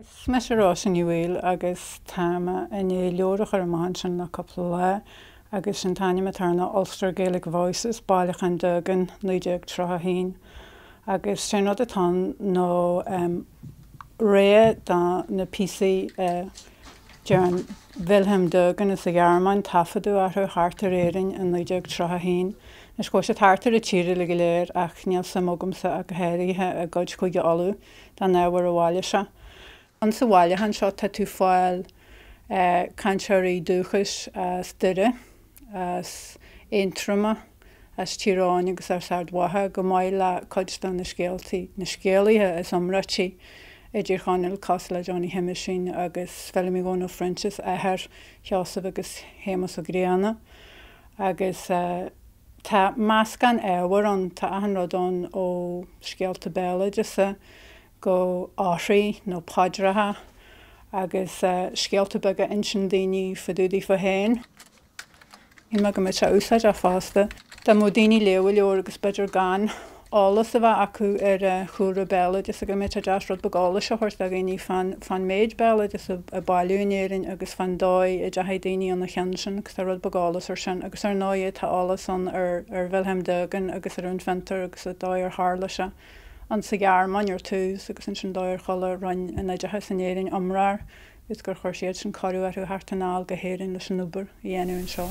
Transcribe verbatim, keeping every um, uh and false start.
Is mise Róise Ní Bhaoill agus tá mé i ndiaidh leabhar a chur amach ansin le cúpla lá agus sin t-ainm atá air ná Ulster Gaelic Voices, Bailiúchán Durgan naoi déag tríocha a haon. Agus sé an rud atá ann ná rogha de na píosaí a dhearn Wilhelm Durgan as an Ghearmáin taifeadadh orthu thart ar Éirinn i naoi déag tríocha a haon. Anois chuaigh siad thart ar an tír uilig go léir ach níl suim agamsa ach go háirithe i gcuid Chúige Uladh den ábhar a bhailigh sé. Insa bhailiúchán seo tá tú fáil cainteoirí dúchais as Doire, as Aontroma, as Tír Eoghain agus as Ard Mhacha, chomh maith le cuid de na scéaltaí, na scéalaithe is iomráití i dTír Chonaill, cosúil le Johnny Sheamuisín agus Feilimí Dhónaill Phroinsias, athair Sheosaimh agus Shéamus Ó Grianna. Agus tá meascán ábhar ann, tá achan rud ann ó scéalta béaloideasa go orthaí nó paidreacha agus scéalta beaga a insíonn daoine fá dtaobh daofa féin. Shíl mé go mbeadh sé úsáideach fosta dá mbeadh daoine ag léamh an leabhair agus b'fhéidir gan eolas a bheith acu ar chúlra béaloideasa go mbeadh sé deas rud beag eolais a thabhairt do dhaoine fán fán méid béaloideas a bailíodh in Éirinn agus fán dóigh a dteachaigh daoine ina chionn sin agus tá rud beag eolas ar sin agus ar ndóigh tá eolas ann ar ar Wilhelm Durgan agus ar an bhfiontar agus an dóigh ar tharla sé an sa Ghearmáin ar tús agus ansin dóigh ar chuala Roinn an Oideachais in Éirinn iomrá air is gur chuir siad sin cuireadh orthu theacht anall go hÉirinn leis an obair a dhéanamh anseo.